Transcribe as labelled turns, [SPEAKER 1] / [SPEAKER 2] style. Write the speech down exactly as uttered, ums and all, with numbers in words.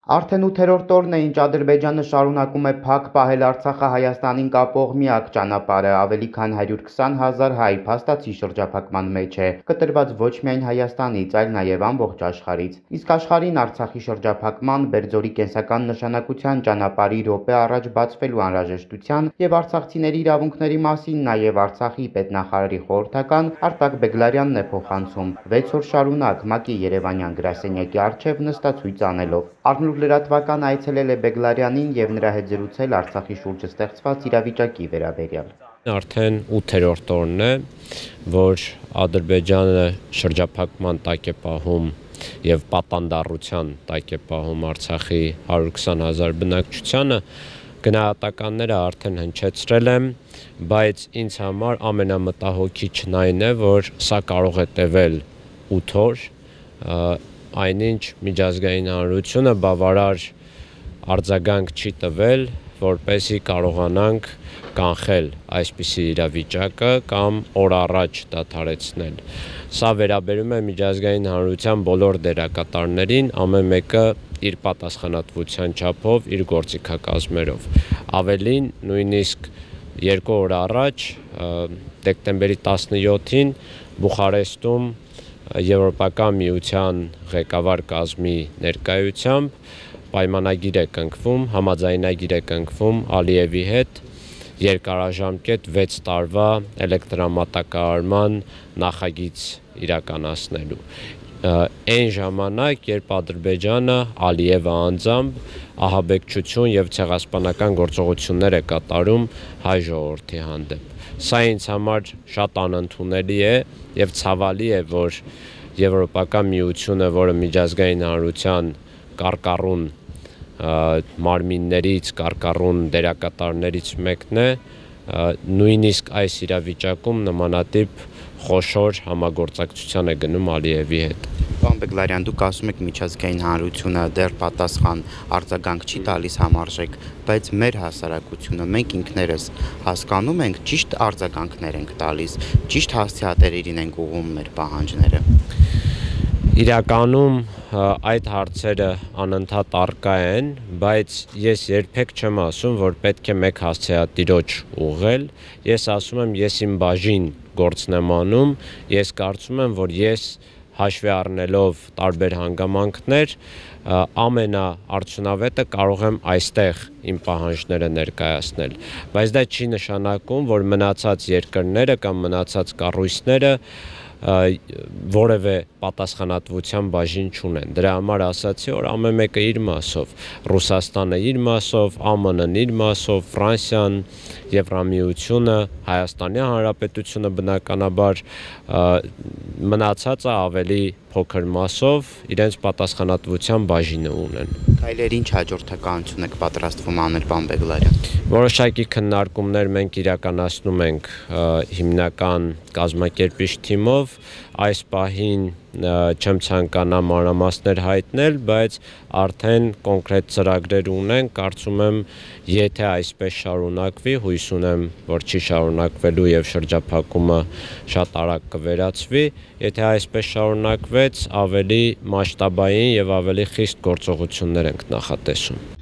[SPEAKER 1] Արդեն ութերորդ օրն է, ինչ Ադրբեջանը շարունակում է փակ պահել Արցախը Հայաստանին կապող միակ ճանապարհը, ավելի քան հարյուր քսան հազար հայ փաստացի շրջափակման մեջ է, կտրված ոչ միայն Հայաստանից, այլ նաև ամբողջ աշխարհից։ Իսկ աշխարհին Արցախի շրջափակման, Բերձորի կենսական նշանակության ճանապարհի րոպե առաջ բացվելու անհրաժեշտության եւ արցախցիների իրավունքների մասին նաև Արցախի պետնախարարի խորհրդական Արտակ Բեգլարյանն է փոխանցում վեց օր շարունակ ՄԱԿ-ի Երևանյան գրասենյակի առջև նստացույց անելով։ Առնուր լրատվական այցելել է Բեգլարյանին եւ նրա հետ զրուցել Արցախի շուրջը ստեղծված իրավիճակի վերաբերյալ։
[SPEAKER 2] Արդեն ութերորդ օրն է, որ Ադրբեջանը շրջափակման տակ է պահում եւ պատանդառության տակ է պահում Արցախի հարյուր քսան հազար բնակչությանը, գնահատականները արդեն հնչեցրել եմ, բայց ինձ համար ամենամտահոգիչն այն է, որ սա կարող է տևել ութ օր, այնինչ միջազգային հանրությունը բավարար արձագանք չի տվել, որպեսզի կարողանանք կանխել այսպիսի իրավիճակը կամ օր առաջ դադարեցնել։ Սա վերաբերում է միջազգային հանրության բոլոր դերակատարներին, ամեն մեկը իր պատասխանատվության չափով, իր գործիքակազմերով։ Ավելին, նույնիսկ երկու օր առաջ, դեկտեմբերի տասնյոթին Բուխարեստում Եվրոպական միության ղեկավար կազմի ներկայությամբ պայմանագիր է կնքվում, համաձայնագիր է կնքվում Ալիևի հետ երկարաժամկետ վեց տարվա էլեկտրամատակարարման նախագիծ իրականացնելու։ Այն ժամանակ, երբ Ադրբեջանը Ալիևը անձամբ ահաբեկչություն եւ ցեղասպանական գործողություններ է կատարում հայ ժողովրդի հանդեպ։ Սա ինձ համար շատ անընդունելի է եւ ցավալի է, որ Եվրոպական միությունը, որը միջազգային հանրության կարկառուն մարմիններից, կարկառուն դերակատարներից մեկն է, նույնիսկ այս իրավիճակում նմանատիպ խոշոր համագործակցության է գնում Ալիևի հետ։
[SPEAKER 1] Պարոն Բեգլարյան, դուք ասում եք միջազգային հանրությունը դեռ պատասխան արձագանք չի տալիս համարժեք, բայց մեր հասարակությունը, մենք ինքներս հասկանում ենք, ճիշտ արձագանքներ ենք տալիս, ճիշտ հասցեատերերին ենք ուղղում մեր պահանջները։
[SPEAKER 2] Իրականում այդ հարցերը անընդհատ առկա են, բայց ես երբեք չեմ ասում, որ պետք է մեկ հասցեատիրոջ ուղղել, ես ասում եմ, ես իմ բաժին գործն եմ անում, ես կարծում եմ, որ ես հաշվի առնելով տարբեր հանգամանքներ, ամենաարդյունավետը կարող եմ այստեղ իմ պահանջները ներկայացնել, բայց դա չի նշանակում, որ մնացած երկրները կամ մնացած կառույցները որևէ պատասխանատվության բաժին չունեն։ Դրա համար ասացի, որ ամեն մեկը իր մասով, Ռուսաստանը իր մասով, Α M N-ն իր մասով, Ֆրանսիան, Եվրամիությունը, Հայաստանի Հանրապետությունը բնականաբար, մնացածը ավելի փոքր մասով իրենց պատասխանատվության բաժինը ունեն։
[SPEAKER 1] Քայլեր ինչ հաջորդականություն եք պատրաստվում անել, պարոն Բեգլարյան։
[SPEAKER 2] Որոշակի քննարկումներ մենք իրականացնում ենք հիմնական կազմակերպիչ թիմով, այս պահին չեմ ցանկանա մանրամասներ հայտնել, բայց արդեն կոնկրետ ծրագրեր ունենք, կարծում եմ, եթե այսպես շարունակվի, հույս ունեմ, որ չի շարունակվելու եւ շրջափակումը շատ արագ կվերացվի, եթե այսպես շարունակվեց, ավելի մասշտաբային եւ ավելի խիստ գործողություններ ենք նախատեսում։